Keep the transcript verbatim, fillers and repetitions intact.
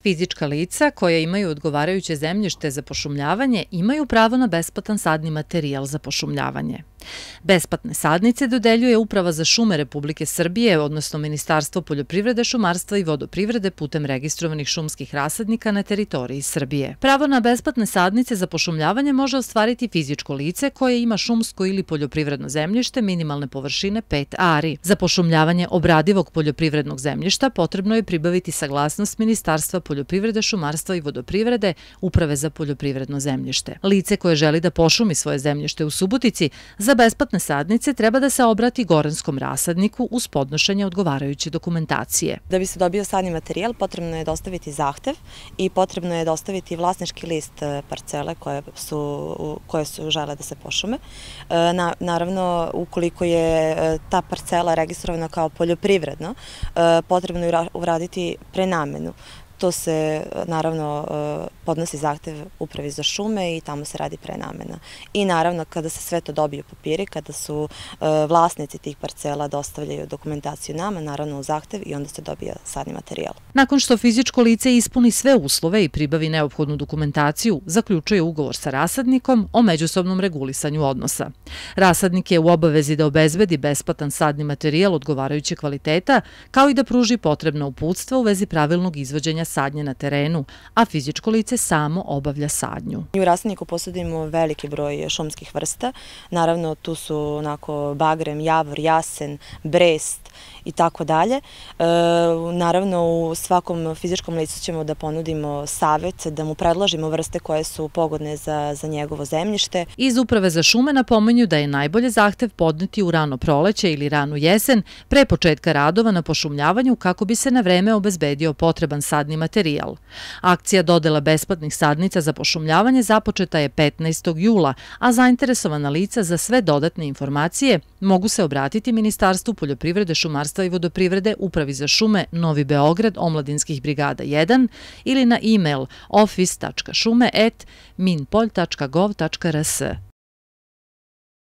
Fizička lica koja imaju odgovarajuće zemljište za pošumljavanje imaju pravo na besplatan sadni materijal za pošumljavanje. Besplatne sadnice dodeljuje Uprava za šume Republike Srbije, odnosno Ministarstvo poljoprivrede, šumarstva i vodoprivrede putem registrovanih šumskih rasadnika na teritoriji Srbije. Pravo na besplatne sadnice za pošumljavanje može ostvariti fizičko lice koje ima šumsko ili poljoprivredno zemljište minimalne površine pet ari. Za pošumljavanje obradivog poljoprivrednog zemljišta potrebno je pribaviti saglasnost Ministarstva poljoprivrede, šumarstva i vodoprivrede, Uprave za poljoprivredno zemljište. Lice koje želi da pošumi svoje zemljište u Subotici za besplatne sadnice treba da se obrati Goranskom rasadniku uz podnošenje odgovarajuće dokumentacije. Da bi se dobio sadni materijal potrebno je dostaviti zahtev i potrebno je dostaviti vlasnički list parcele koje su, koje su žele da se pošume. Na, naravno, ukoliko je ta parcela registrovana kao poljoprivredno, potrebno je uraditi prenamenu. To se, naravno, podnosi zahtev Upravi za šume i tamo se radi prenamena. I naravno, kada se sve to dobije u papiri, kada su vlasnici tih parcela dostavljaju dokumentaciju nama, naravno u zahtev, i onda se dobija sadni materijal. Nakon što fizičko lice ispuni sve uslove i pribavi neophodnu dokumentaciju, zaključuje ugovor sa rasadnikom o međusobnom regulisanju odnosa. Rasadnik je u obavezi da obezbedi besplatan sadni materijal odgovarajuće kvaliteta, kao i da pruži potrebna uputstva u vezi pravilnog izvođenja sadnje na terenu, a fizičko lice samo obavlja sadnju. U rasadniku posjedujemo veliki broj šumskih vrsta. Naravno, tu su onako bagrem, javor, jasen, brest i tako dalje. Naravno, u svakom fizičkom licu ćemo da ponudimo savet, da mu predložimo vrste koje su pogodne za, za njegovo zemljište. Iz Uprave za šume napominju da je najbolje zahtev podneti u rano proleće ili ranu jesen pre početka radova na pošumljavanju kako bi se na vreme obezbedio potreban sadni materijal. Akcija dodela besplatnih sadnica za pošumljavanje započeta je petnaestog jula, a zainteresovana lica za sve dodatne informacije mogu se obratiti Ministarstvu poljoprivrede, šumarstva i vodoprivrede, Upravi za šume Novi Beograd, Omladinskih brigada jedan ili na e-mail office tačka šume at minpolj tačka gov tačka rs.